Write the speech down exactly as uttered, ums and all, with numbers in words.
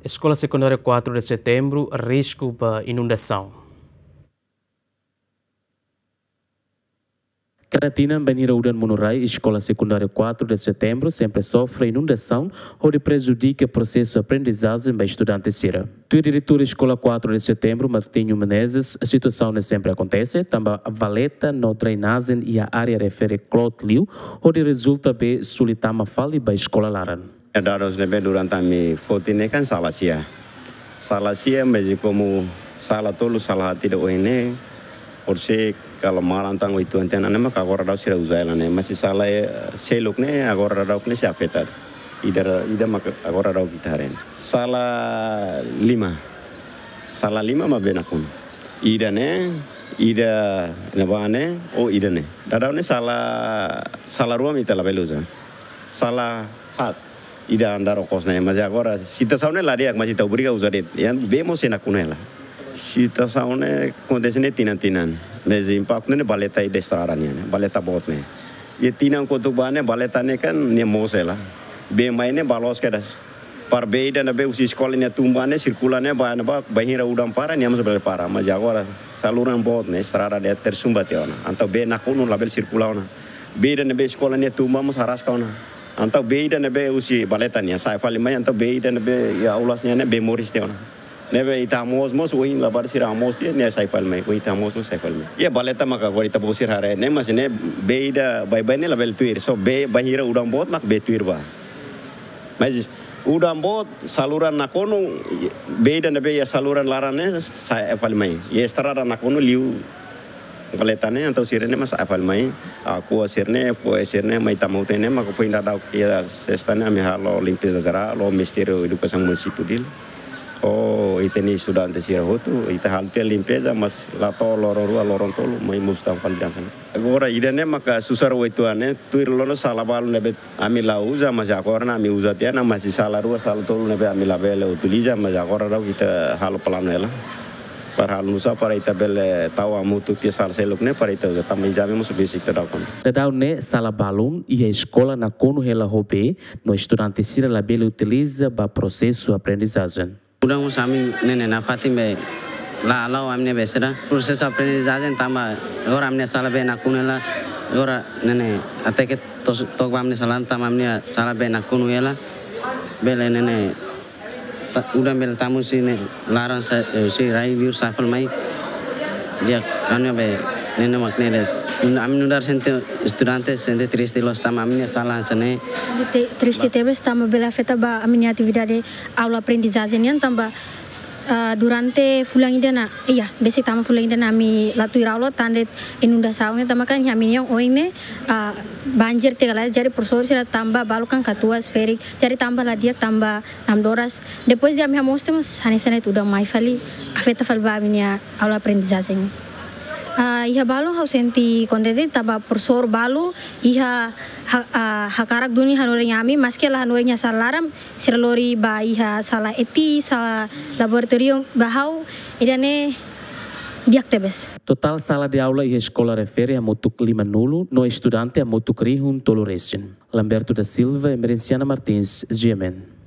Eskola Sekundária quatro de Setembro, risku ba inundasaun. Kada tinan bainhira udan monu rai, Eskola Sekundária quatro de Setembro sempre sofre inundasaun, hodi prejudika prosesu aprendizajen ba estudante sira. Tuir diretór Eskola quatro de Setembro, Martinho Menezes, situasaun ne'e sempre akontese, tanba valeta no drenajen iha área refere kloot liu, hodi rezulta be suli tama fali ba eskola laran. Dadus ne'ebé durante ami foti ne'e kan sala sia. Sala sia, mas komu sala tolu, sala haat ida ohin ne'e, por se kalau maran tan oituan tiha ona ne'e maka agora daudaun sira uza hela ne'e. Mas sala, eh, seluk ne'e, agora daudaun ne'e sei afeta. Ida, ida maka agora daudaun ita haree. Sala lima. Sala lima mak bee nakonu. Ida ne'e, ida ne'ebá ne'e, oh ida ne'e. Daudaun ne'e sala, sala rua mak ita labele uza. Sala haat. Ida andar okos ne'e, mas agora situasaun ne'e la di'ak, mas ita obriga uza de'it. Iha bee mós sei nakonu hela. Situasaun ne'e akontese ne'e tinan-tinan. Mas impaktu ne'e valeta ida estrada nian, valeta boot ne'e. Iha tinan kotuk bá ne'e valeta ne'e kan nia moos hela. Bee mai ne'e ba loos kedas. Para bee ida ne'ebé husi eskola nia tun bá ne'e sirkula ne'e ba ne'ebá bainhira udan para nia mós bele para. Mas agora saluran boot ne'e estrada de'it tersumbat tiha ona. Entaun bee nakonu labele sirkula ona. Bee ida ne'ebé eskola nia tun bá mós araska ona. Entaun bee ida ne'ebé husi valeta nian sa'e fali mai, entaun bee ida ne'ebé iha aulas nian ne'e bee moris tiha ona. Ne'ebé ita hamoos mós, ohin labarik sira hamoos tiha, nia sa'e fali mai, ohin ita hamoos mós sa'e fali mai. Iha valeta maka agora ita-boot sira haree ne'e, mas ne'e bee ida baibain ne'e labele tuir, só bee bainhira udan boot mak bee tuir bá. Mas udan boot, saluran nakonu, bee ida ne'ebé iha saluran laran ne'e sa'e fali mai. Iha estrada nakonu liu valeta ne'e, entaun sira ne'e mós sa'e fali mai. Akoa sira ne'e, fo'er sira ne'e, mai tama hotu ne'e, maka foin daudauk iha sesta ne'e, ami halo limpeza jerál, ho Ministériu Edukasaun Munisípiu Dili. Oh, ita-nia estudante sira hotu, ita halo tiha limpeza, mas la to'o loron rua, loron tolu, mai mosu tan fali hanesan ne'e. Agora, ida ne'e maka susar oituan ne'e, tuir loron sala balu ne'ebé ami la uza, mas agora ne'e ami uza tiha ona, mas sala rua, sala tolu ne'ebé ami labele utiliza, mas agora daudaun ita halo planu hela. Para halo nusá para ita bele tau hamutuk iha sala seluk ne'e para ita uza, tanba ezame mós besik daudaun. Daudaun ne'e sala balun iha eskola nakonu hela ho bee, no estudante sira labele utiliza ba prosesu aprendizajen. Udan mós ami ne'e ne'e nafatin be la hala'o ami-nia be sira prosesu aprendizajen tanba agora ami-nia sala bee nakonu hela, agora ne'e ne'e até ke tos-, took ba ami-nia sala tanba ami-nia sala bee nakonu hela, bele ne'e ne'e ta-, udan bele tama husi ne'e laran sa'e, eh, husi rai liur sa'e fali mai. Di'ak, ami be ne'e ne'e mak ne'e de'it. Ami nu'udar sente, estudante sente triste loos tanba ami-nia sala hanesan ne'e. Te-, triste tebes tanba bele afeta ba ami-nia atividade aula aprendizajen nian tanba, ah, durante fulan ida ona, iha, besik tama fulan ida ona ami la tuir aula tan de'it inundasaun ne'e tanba kan iha ami-nia oin ne'e, ah, banjir tiha kala, jadi profesór sira tanba balu kan katuas ferik, jadi tanba la di'ak tanba namdoras. Depois de ami hamoos tiha mós hanesan ne'e udan mai fali, afeta fali ba ami-nia aula aprendizajen. Ah, iha balun ha'u sente kontente tanba profesór balu iha ha-, ah, hakarak duni hanorin ami, maski la hanorin iha sala laran, sira lori ba iha sala eti, sala laboratóriu ba ha'u, ida ne'e di'ak tebes. Totál sala de aula iha eskola refere hamutuk limanulu, no estudante hamutuk rihun tolu resin. Lamberto da Silva, Emerenciana Martins, G M N.